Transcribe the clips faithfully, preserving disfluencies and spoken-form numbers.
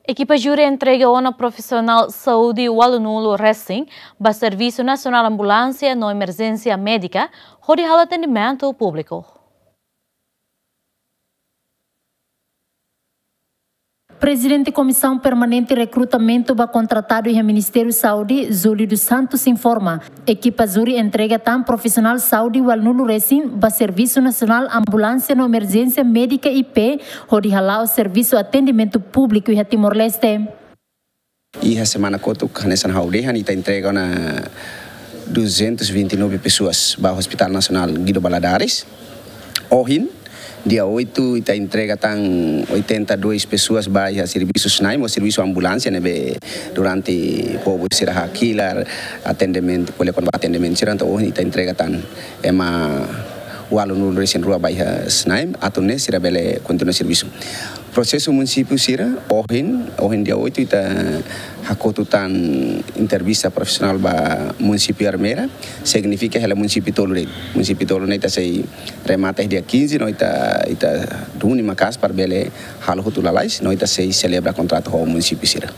Ekipa júri entrega ona profisionál saúde ualunulu resin ba Servisu Nasionál Ambulánsia no Emerjénsia Médika, hodi halo atendimentu públiku. Prezidente Komisaun Permanente Rekrutamentu ba Kontratadu iha Ministériu Saúde, Júlio dos Santos, informa, ekipa júri entrega tan profisionál saúde ualunulu resin ba Servisu Nasionál Ambulánsia no Emerjénsia Médika, I P, hodi hala'o servisu atendimentu públiku iha Timor-Leste. Iha semana kotuk hanesan ha'u dehan, ita entrega ona duzentos e vinte e nove pessoas ba Hospital Nasionál Guido Valadares. Ohin, dia oito, ita entrega tan oitenta e dois pessoas ba iha servisu SNAEM, ou servisu ambulánsia, ne'ebé durante povu sira hakilar, atendimentu, ko'alia kona-ba atendimentu sira, entaun ohin ita entrega tan ema ualunulu resin rua ba iha SNAEM, atu nune'e sira bele kontinua servisu. Prosesu munisípiu sira, ohin, ohin dia oito, ita hakotu tan entrevista profisionál ba munisípiu Ermera, signifika hela munisípiu tolu de'it. Munisípiu tolu ne'e ita sei remata dia quinze, no ita, ita duni maka'as para bele halo hotu lalais, no ita sei selebra kontratu ho munisípiu sira.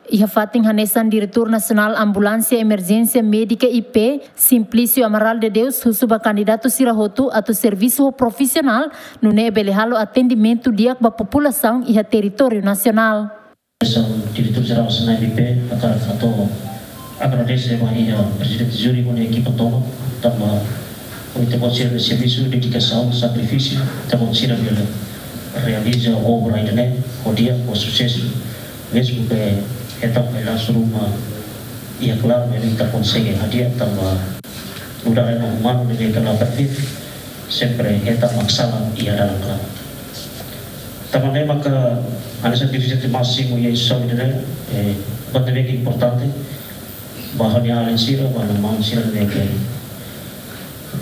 Iha fatin hanesan, Diretór Nasionál Ambulánsia Emerjénsia Médika, I P, Simplício Amaral de Deus, husu ba kandidatu sira hotu atu servisu ho profisionál, nune'e bele halo atendimentu di'ak ba populasaun iha territóriu nasionál. Diretór Jerál SNAEM, I P, hakarak atu agradese ba iha prezidente júri ho nia ekipa tomak, tanba ita-boot sira-nia servisu, dedikasaun, sakrifísiu, ita-boot sira bele realiza obra ida-ne'e ho di'ak, ho susesu. Mezmu ke hetan failas ruma, iha klaru, maibé ita konsege hadi'a tanba nu'udar ema umanu ne'ebé ke la perfeitu, sempre hetan mak sala iha dalan klaru. Tanba ne'e maka hanesan dirjente másimu iha instituisaun ida-ne'e, eh, buat ne'ebé ke importante ba ha'u-nia alin sira, ba ha'u-nia maun sira ne'ebé ke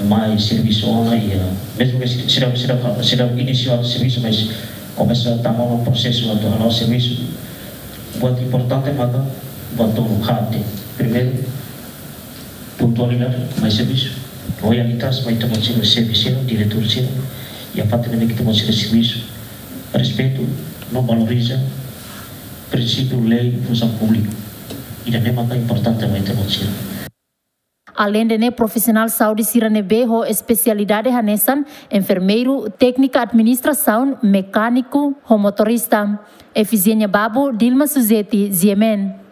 mai servisu ona iha, mezmu ke sira, sira, sira, sira inisiál servisu, mas komesa tama ona prosesu atu hala'o servisu. Buat importante maka buat tolu haat. Primeiru, pontualidade mai servisu. Loyalitas mai ita-boot sira, xefe sira, diretór sira. Iha fatin ne'ebé ke ita-boot sira servisu, respeitu no valoriza prinsípiu, lei, funsaun públika. Ida-ne'e maka importante mai ita-boot sira. Aleinde ne'e, profisionál saúde sira ne'ebé ho espesialidade hanesan enfermeiru, téknika administrasaun, mekániku ho motorista. Efizénia Babo, Dilma Suzeti, G M N.